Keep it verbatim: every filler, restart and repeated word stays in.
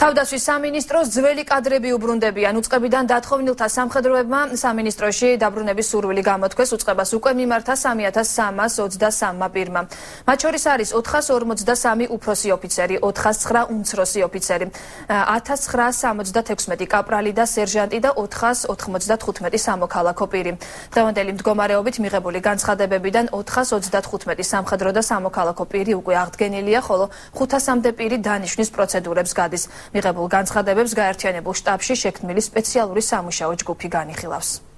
თავდაცვის სამინისტროს ძველი კადრები უბრუნდებიან. უწყებიდან დათხოვნილთა სამხედროებმა სამინისტროში დაბრუნების სურვილი გამოთქვეს. უწყებას უკვე მიმართა სამი ათას სამას ოცდასამმა პირმა. მათ შორის არის ოთხას ორმოცდასამი უფროსი ოფიცერი, ოთხას ცხრა უმცროსი ოფიცერი, ათას ცხრაას სამოცდათექვსმეტი კაპრალი და სერჟანტი და ოთხას ოთხმოცდათხუთმეტი სამოქალაქო პირი. დღევანდელი მდგომარეობით მიღებული განცხადებებიდან ოთხას ოცდათხუთმეტი სამხედრო და სამოქალაქო პირი უკვე აღდგენილია, ხოლო ხუთასამდე პირი დანიშვნის პროცედურებს გადის. მიღებულ განცხადებებს გაერთიანებულ შტაბში შექმნილი სპეციალური სამუშაო ჯგუფი განიხილავს.